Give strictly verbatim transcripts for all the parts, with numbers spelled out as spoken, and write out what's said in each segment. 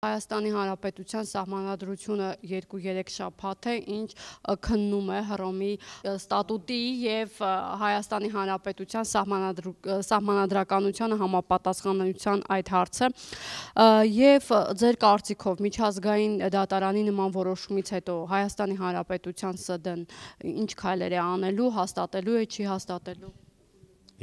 Հայաստանի Հանրապետության սահմանադրությունը երկու երեք շաբաթ է, ինչ քննում է Հռոմի ստատուտի և Հայաստանի Հանրապետության սահմանադրականությանը համապատասխանության այդ հարցը, և ձեր կարծիքով միջազգային դատարանի նման որոշումից հետո Հայաստանի Հանրապետության ՍԴ-ն ինչ քայլեր է անելու, հաստատելու է, չի հաստատելու։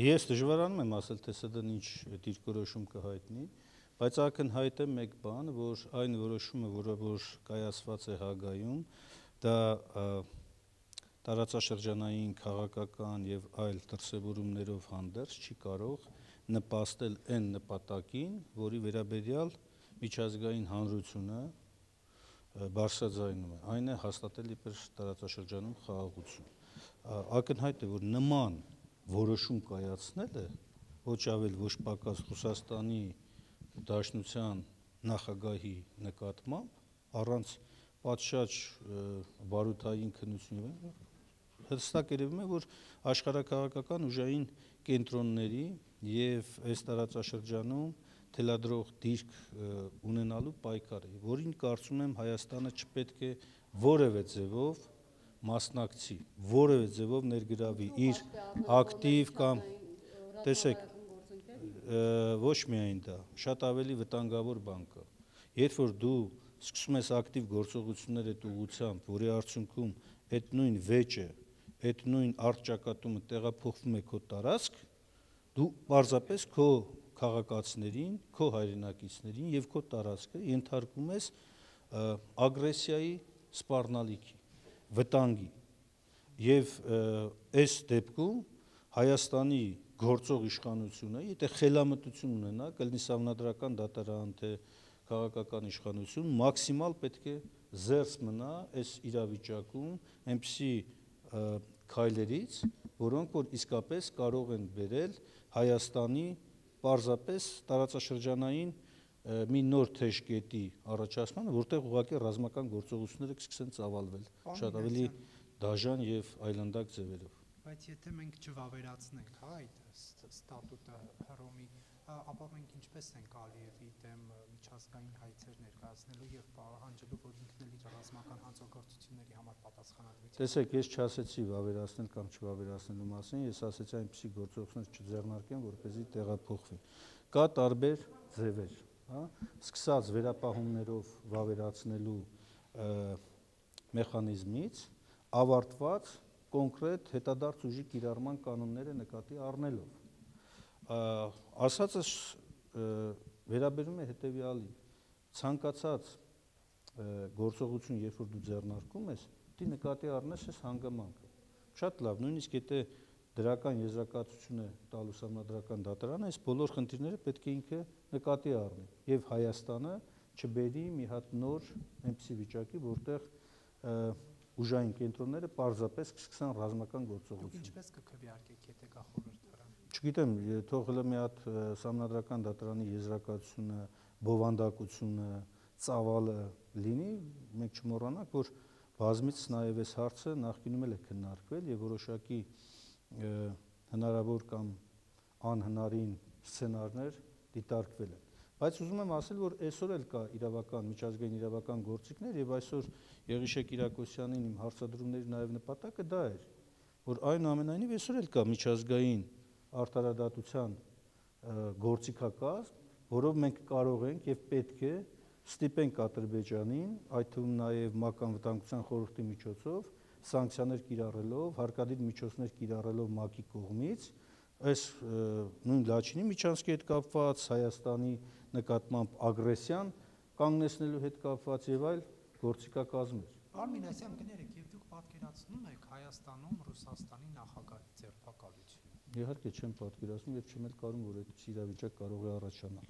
Ես դժվարանում եմ ասել, թե ՍԴ-ն ինչ դիրքորոշում կհայտնի, բայց ակնհայտ է մեկ բան, որ այն որոշումը, որը որ կայացված է Հաագայում, դա տարածաշրջանային քաղաքական և այլ դրսևորումներով հանդերձ չի կարող նպաստել այն նպատակին, որի վերաբերյալ միջազգային հանրությունը բարձրաձայնում է, այն է հաստատել իբր տարածաշրջանում խաղաղություն։ Ակնհայտ է, որ նման որոշում կայացնելը ոչ ավել ոչ պակաս Ռուսաստանի Դաշնության նախագահի նկատմամբ առանց պատշաճ բարութային քննությունների հստակ երևում է, որ աշխարհաքաղաքական ուժային կենտրոնների և այս տարածաշրջանում թելադրող դիրք ունենալու պայքար է, որին կարծում եմ Հայաստանը չպետք է որևէ ձևով մասնակցի, որևէ ձևով ներգրավի իր ակտիվ կամ տեսեք, ոչ միայն դա, շատ ավելի վտանգավոր բան կա, երբ որ դու սկսում ես ակտիվ գործողություններ այդ ուղղությամբ, որի արդյունքում այդ նույն վեճը, այդ նույն առճակատումը տեղափոխվում է քո տարածք, դու պարզապես քո քաղաքացիներին, քո հայրենակիցներին և քո տարածքը ենթարկում ես ագրեսիայի սպառնալիքի, վտանգի, և այս դեպքում Հայաստանի գործող իշխանությունը, եթե խելամտություն ունենա, կլինի սահմանադրական դատարան, թե քաղաքական իշխանություն, մաքսիմալ պետք է զերծ մնա այս իրավիճակում այնպիսի քայլերից, որոնք որ իսկապես կարող են բերել Հայաստանի պարզապես տարածաշրջանային մի նոր թեժ կետի առաջացմանը, որտեղ ուղղակի ռազմական գործողությունները կսկսեն ծավալվել շատ ավելի դաժան և այլանդակ ձևերով։ Բայց եթե մենք չվավերացնենք այդ ստատուտը Հռոմի, ապա մենք ինչպես ենք Ալիևի դեմ միջազգային հայցեր ներկայացնելու և պահանջելու, որ ինքն էլ իր ռազմական հանցագործությունների համար պատասխանատվություն։ Տեսեք, ես չասեցի վավերացնել կամ չվավերացնելու մասին, ես ասեցի այնպիսի գործողություններ չձեռնարկեն, որպեսզի տեղափոխվի։ Կա տարբեր ձևեր, սկսած վերապահումներով վավերացնելու մեխանիզմից, ավարտված կոնկրետ հետադարձ ուժի կիրառման կանոնները նկատի առնելով։ Ասածս վերաբերում է հետևյալին, ցանկացած գործողություն, երբ որ դու ձեռնարկում ես, պետք է նկատի առնես այս հանգամանքը։ Շատ լավ, նույնիսկ եթե դրական եզրակացություն է տալու սահմանադրական դատարանը, այս բոլոր խնդիրները պետք է ինքը նկատի առնի և Հայաստանը չբերի մի հատ նոր այնպիսի վիճակի, որտեղ ուժային կենտրոնները պարզապես կսկսեն ռազմական գործողություն։ Ինչպես կքվեարկեք, եթե գա խորհրդարան։ Չգիտեմ, թող հլը մի հատ սահմանադրական դատարանի եզրակացությունը, բովանդակությունը, ծավալը լինի, մենք չմոռանանք, որ բազմիցս նաև այս հարցը նախկինում էլ է քննարկվել և որոշակի հնարավոր կամ անհնարին սցենարներ դիտարկվել են։ Բայց ուզում եմ ասել, որ այսօր էլ կա իրավական, միջազգային իրավական գործիքներ և այսօր Եղիշե Կիրակոսյանին իմ հարցադրումների նաև նպատակը դա էր, որ այնուամենայնիվ այսօր էլ կա միջազգային արդարադատության գործիքակազմ, որով մենք կարող ենք և պետք է ստիպենք Ադրբեջանին, այդ թվում նաև ՄԱԿ Անվտանգության խորհրդի միջոցով, սանկցիաներ կիրառելով, հարկադիր միջոցներ կիրառելով ՄԱԿ-ի կողմից, այս նույն Լաչինի միջանցքի հետ կապված, Հայաստանի նկատմամբ ագրեսիան կանգնեցնելու հետ կապված և այլ գործիքակազմեր։ Արմին, այսինքն կներեք, և դուք պատկերացնում եք Հայաստանում Ռուսաստանի նախագահի ձերբակալությունը։ Իհարկե չեմ պատկերացնում և չեմ էլ կարում, որ այդպիսի իրավիճակ կարող է առաջանալ։